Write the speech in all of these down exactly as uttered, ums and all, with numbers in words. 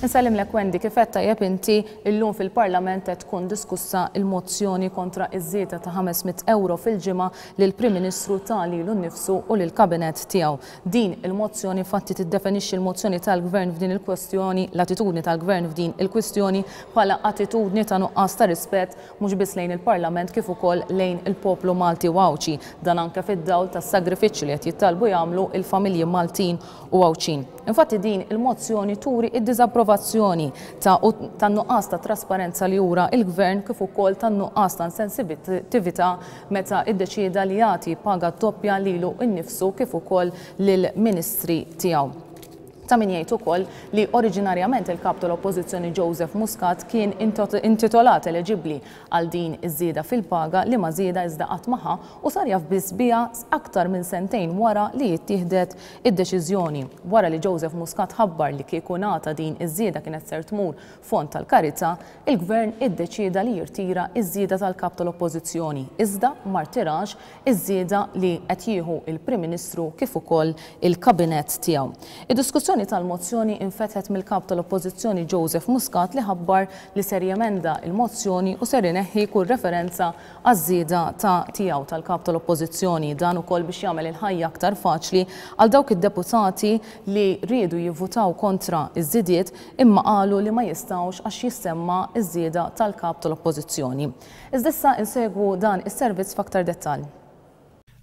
Insellimlek, Wendy. Kif qed tajjeb inti, illum fil-Parlament qed tkun diskussa il-mozzjoni kontra iż-żieda ta' ħames mitt euro fil-ġimgħa lil Prim Ministru ta lilu nnifsu u lil kabinett tiegħu. Din il-mozzjoni fatti tiddefinixxi l-mozzjoni tal-Gvern f'din il-kwestjoni, l-attitudni tal-Gvern f'din il-kwestjoni bħala attitudni ta' nuqqas ta' rispett mhux biss lejn il-Parlament kif ukoll lejn il-poplu Malti u Għawdxi. Dan anke fid-dawl tas-sagrifiċċju li qed jittalbu jagħmlu il-familji Maltin u Għawdxin. Infatti din il-mozzjoni turi id-diżapprovazzjoni ta' tan-nuqqas ta' trasparenza li jura il-Gvern kif ukoll tan-nuqqas ta' sensitività meta iddeċieda li jagħti paga doppja lilu nnifsu kif ukoll lill-ministri tiegħu. Ta' min jgħid ukoll li oriġinarjament il-kap tal-Oppożizzjoni Joseph Muscat kien intitolat, eleġibbli għal din iż-żieda fil-paga, li ma żieda iżda qatt ma ħa u sar jaf biss biha aktar minn sentejn wara li jittieħdet id-deċiżjoni. Wara li Joseph Muscat ħabbar li kieku ngħata din iż-żieda kienet ser tmur fond tal-karità, il-Gvern iddeċieda li jirtira iż-żieda tal-kap tal-Oppożizzjoni. Iżda ma rtirax iż-żieda li qed jieħu il-Prim Ministru kif ukoll il-kabinett tiegħu. Id-diskussjoni tal-mozzjoni infetħet mill-kap tal-Oppożizzjoni Joseph Muscat, li ħabbar li ser jemenda il-mozzjoni u ser ineħħi kull referenza għaż-żieda ta' tiegħu, tal-kap tal-Oppożizzjoni. Dan ukoll biex jagħmel il-ħajja aktar faċli għal dawk id-deputati li riedu jivvutaw kontra iż-żidiet imma qalu li ma jistgħux għax jissemma iż-żieda tal-kap tal-Oppożizzjoni. Iżda issa insegwu dan is-servizz f'aktar dettall.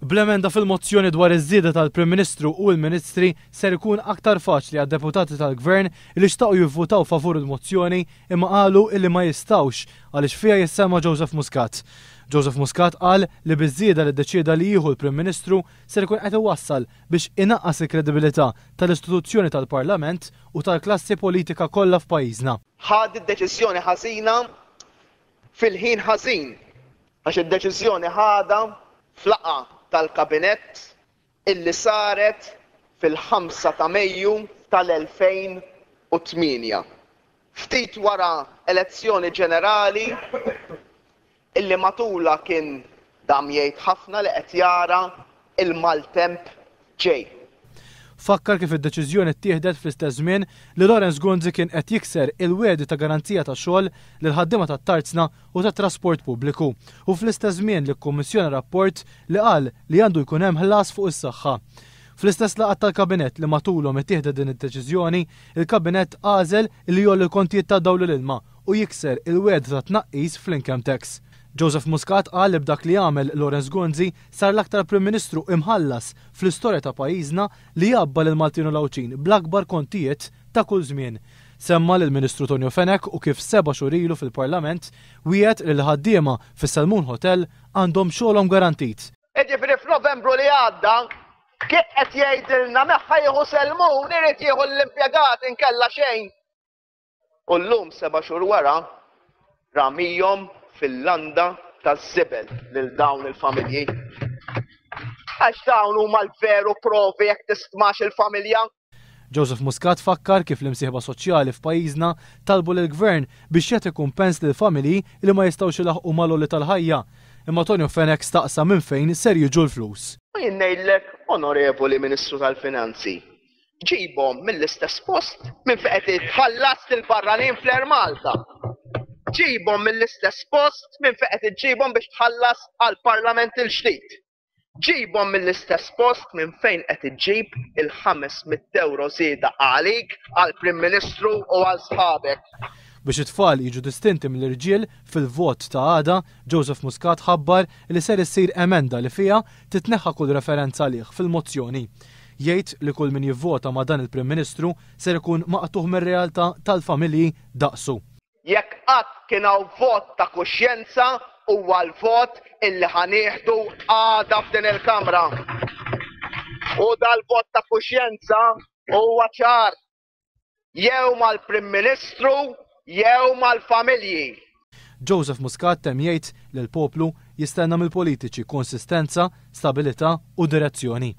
Bl-emenda fil-mozzjoni dwar iż-żieda tal-Prim Ministru u l-Ministri ser ikun aktar faċli għad-deputati tal-Gvern li xtaqu jivvutaw favur il-mozzjoni imma qalu illi ma jistgħux għaliex fiha jissemma Joseph Muscat. Joseph Muscat qal li biż-żieda li ddeċieda li jieħu l-Prim Ministru ser ikun qed iwassal biex inaqqas il-kredibilità tal-istituzzjoni tal-Parlament u tal-klassi politika kollha f'pajjiżna. Ħad id-deċiżjoni ħażina fil-ħin ħażin, għax id-deċiżjoni ħadha f'laqgħa tal-kabinett illi saret fil-ħamsa ta' Mejju tal-elfejn u tmienja. Ftit wara elezzjoni ġenerali illi matula kien dam jgħid ħafna li qed jara il-maltemp ġej. Fakkar kif id-deċiżjoni ttieħdet fl-istess żmien li Lawrence Gonzi kien qed jikser il-wegħdi ta' garanzija ta' xogħol lil ħaddiema tat-tarzna u tat-trasport pubbliku u fl-istess żmien li kkummissjona rapport li qal li għandu jkun hemm ħlas fuq is-saħħa. Fl-istess laqgħat tal-kabinett li matulhom ittieħdet din id-deċiżjoni, il-kabinett għażel li jgħolli l-kontijiet ta' dawl l-ilma u jikser il-wegħda ta' tnaqqis fl-income tax. Joseph Muscat qal li b'dak li għamel Lawrence Gonzi sar l-aktar Prim Ministru imħallas fl-istorja ta' pajjiżna li għabba lil Maltin u l-Għawdxin bl-akbar kontijiet ta' kull żmien. Semma lil Ministru Tonio Fenech u kif seba' xhur ilu fil-Parlament wiegħed li l-ħaddiema fis-Selmun Hotel għandhom xogħolhom garantit. Jiġifieri f'Novembru li għadda kif qed jgħidilna min ħa jieħu Selmun irid jieħu l-impjegat inkella xejn. U llum, seba' xhur wara, ramihom fil-landa taż-żibel lil dawn il-familji. Għax dawn huma l-veru provi jekk tistmax il-familja. Joseph Muscat fakkar kif l-imsieħba soċjali f'pajjiżna talbu lill-gvern biex jagħti kumpens lil familji li ma jistgħux ilaħqu mal-għoli tal-ħajja. Imma Tonio Fenech staqsa minn fejn ser jiġu l-flus. U jien ngħidlek, Onorevoli Ministru tal-Finanzi, ġibhom mill-istess post minn fejn qed tħallas lill-barranin fl-Air Malta. Ġibhom mill-istess post minn fejn qed iġġibhom biex tħallas għall-Parlament il-ġdid. Ġibhom mill-istess post minn fejn qed iġġib il-ħames mitt euro żieda għalik, għall-Prim Ministru u għal sħabek. Biex it-tfal jiġu distinti mill-irġiel fil-vot ta' għada, Joseph Muscat ħabbar li ser issir emenda li fiha titneħħa kull referenza għalih fil-mozzjoni. Jgħid li kull min jivvota ma' dan il-Prim Ministru ser ikun maqtugħ mir-realtà tal-familji daqsu. Jekk qatt kien hawn vot ta' kuxjenza, huwa l-vot illi ħa nieħdu għada f'din il-Kamra. U dal-vot ta' kuxjenza huwa ċar. Jew mal-Prim Ministru jew mal-familji. Joseph Muscat temm jgħid li l-poplu jistenna mill-politiċi konsistenza, stabilità u direzzjoni.